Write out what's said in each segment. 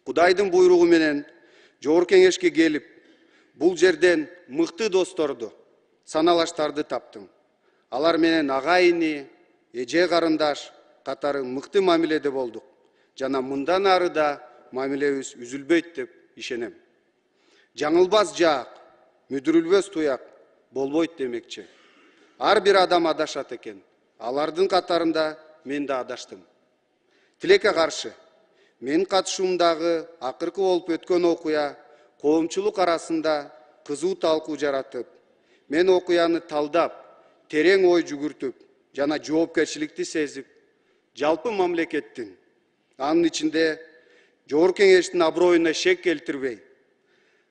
Кудайдын буйругу менен Жогорку Кеңешке келип, бул жерден мыкты досторду, саналаштарды таптым. Алар менен агайыны, эже карындаш катары мыкты мамиледе болдук. Жана мындан ары да мамилебиз үзүлбөйт деп ишенем. Жаңылбас жаак, мүдүрүлбөс туяк болбойт демекчи. Ар бир адам адашат экен. Алардын катарында мен да адаштым. Тилекке каршы, менин катышуумдагы акыркы болуп өткөн окуя коомчулук арасында кызуу талкуу жаратып, мен окуяны талдап, терең ой жүгүртүп жана жоопкерчиликти сезип, жалпы мамлекеттин, анын ичинде Жогорку Кеңештин аброюна шек келтирбей,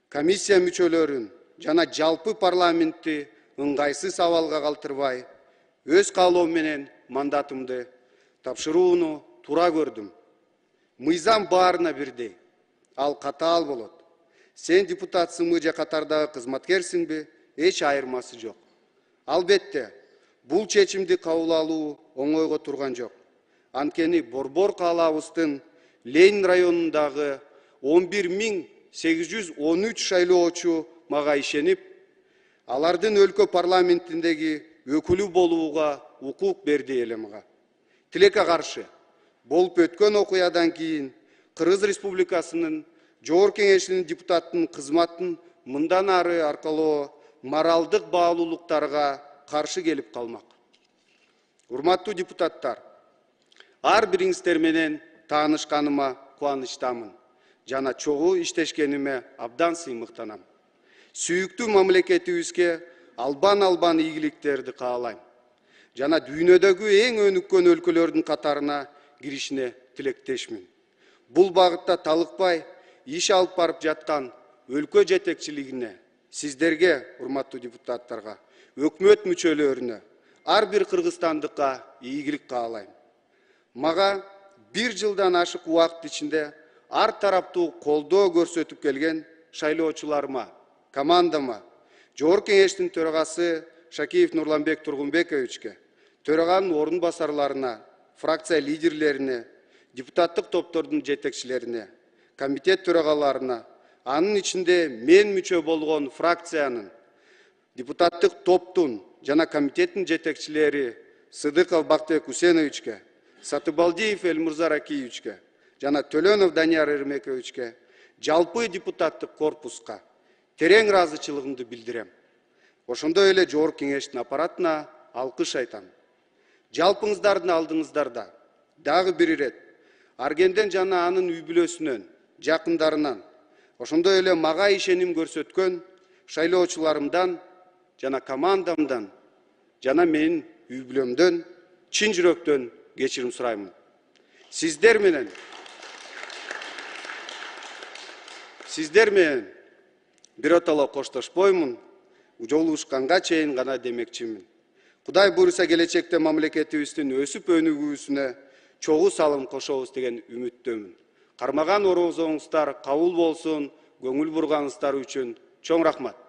комиссия мүчөлөрүн жана жалпы парламентти ыңгайсыз абалга калтырбай, өз каалоом менен мандатымды тапшырууну туура көрдүм. Мыйзам баарына бирдей, ал катаал болот. Сен депутатсыңбы же катардагы кызматкерсиңби, эч айырмасы жок. Албетте, бул чечимди кабыл алуу оңойго турган жок. Анткени Борбор каалабыздын Ленин районундагы 11.813 шайлоочу мага ишенип, алардын өлкө парламентиндеги өкүлү болууга укук берди эле мага. Тилекке каршы, болуп өткөн окуядан кийин Кыргыз Республикасынын Жогорку Кеңешинин депутаттын кызматын мындан ары аркалоо моралдык баалуулуктарга каршы келип калмак. Урматтуу депутаттар, ар бириңиздер менен таанышканыма кубанычтамын жана чогуу иштешкениме абдан сыймыктанам. Сүйүктүү мамлекетибизге албан ийгиликтерди каалайм жана дүйнөдөгү эң өнүккөн өлкөлөрдүн катарына киришине тилектешмин. Бул багытта талыкпай иш алып барып жаткан өлкө жетекчилигине, сиздерге, урматтуу депутаттарга, өкмөт мүчөлөрүнө, ар бир кыргызстандыкка ийгилик каалайм. Мага 1 жылдан ашык убакыт ичинде ар тараптуу колдоо көрсөтүп келген шайлоочуларыма, командама, Жогорку Кеңештин төрагасы Шакиев Нурланбек Тургунбековичке, төраганын орун басарларына, фракция лидерлерине, депутаттык топтордун жетекчилерине, комитет төрагаларына, анын ичинде мен мүчө болгон фракциянын, депутаттык топтун жана комитеттин жетекчилери Сыдыков Бактыбек Хусеновичке, Сатыбалдиев Элмурза Ракиевичке жана Төлөнов Данияр Эрмековичке, жалпы депутаттык корпуска терең ыраазычылыгымды билдирем. Ошондой эле Жогорку Кеңештин аппаратына алкыш айтам. Жалпыңыздардын алдыңыздарда дагы бир ирет Аргенден жана анын үй бүлөсүнөн, жакындарынан, ошондой эле мага ишеним көрсөткөн шайлоочуларымдан жана командамдан жана менин үй бүлөмдөн чын жүрөктөн кечирим сураймын. Сиздер менен биротоло коштошпоймун, жолугушканга чейин гана демекчимин. Кудай буйруса келечекте мамлекетибиздин өсүп өнүгүүсүнө чогуу салым кошобуз деген үмүттөмүн. Кармаган ороозоңуздар кабыл болсун, көңүл бурганыңыздар үчүн чоң рахмат.